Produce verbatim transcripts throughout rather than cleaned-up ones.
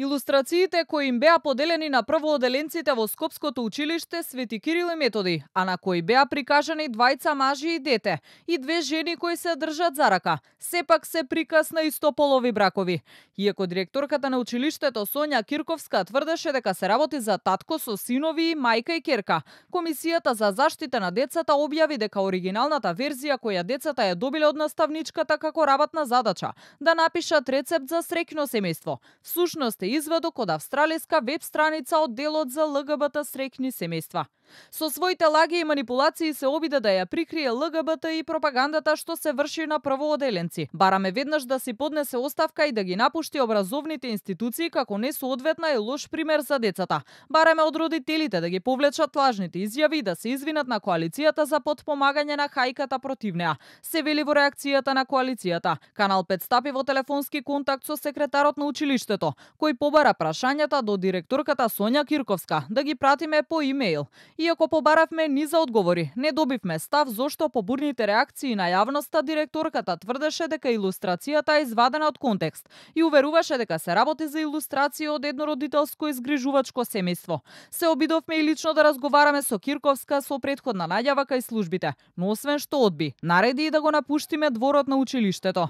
Илустрациите кои им беа поделени на првооделенците во Скопското училиште Свети Кирил и Методи, а на кои беа прикажани двајца мажи и дете и две жени кои се држат за рака, сепак се приказ на истополови бракови. Иако директорката на училиштето Сонја Кирковска тврдеше дека се работи за татко со синови и мајка и ќерка, Комисијата за заштита на децата објави дека оригиналната верзија која децата ја добиле од наставничката како работна задача да напишат рецепт за среќно семејство, всушност е извадок од австралиска веб страница од делот за Л Г Б Т среќни семејства. Со своите лаги и манипулации се обиде да ја прикрие Л Г Б Т и пропагандата што се врши на првооделенци. Бараме веднаш да си поднесе оставка и да ги напушти образовните институции како несоодветна и лош пример за децата. Бараме од родителите да ги повлечат лажните изјави и да се извинат на коалицијата за потпомагање на хајката против неа. Се вели во реакцијата на коалицијата. Канал пет стапи во телефонски контакт со секретарот на училиштето, кој побара прашањата до директорката Сонја Кирковска да ги пратиме по имејл. Иако побаравме ни за одговори, не добивме став зошто по бурните реакции на јавноста директорката тврдеше дека илустрацијата е извадена од контекст и уверуваше дека се работи за илустрација од еднородителско изгрижувачко семејство. Се обидовме и лично да разговараме со Кирковска со претходна најава кај службите, но освен што одби, нареди и да го напуштиме дворот на училиштето.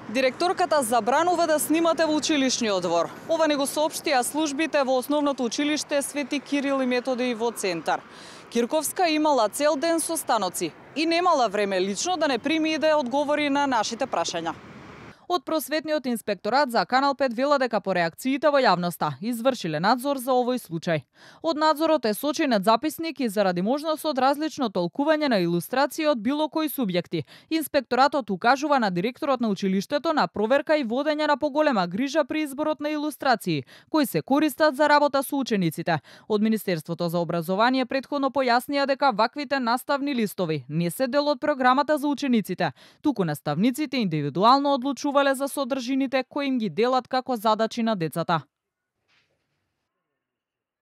Директорката забранува да снимате во училишниот двор. Ова не го соопштија службите во основното училиште Свети Кирил и Методи во Центар. Кирковска имала цел ден со станоци и немала време лично да не прими и да одговори на нашите прашања. Од просветниот инспекторат за Канал пет вела дека по реакциите во јавноста извршиле надзор за овој случај. Од надзорот е сочинет записник и заради можност од различно толкување на илустрации од било кои субјекти, инспекторатот укажува на директорот на училиштето на проверка и водење на поголема грижа при изборот на илустрации, кои се користат за работа со учениците. Од Министерството за образование претходно појаснија дека ваквите наставни листови не се дел од програмата за учениците, туку наставниците индивидуално одлучуваат за содржините кои им ги делат како задачи на децата.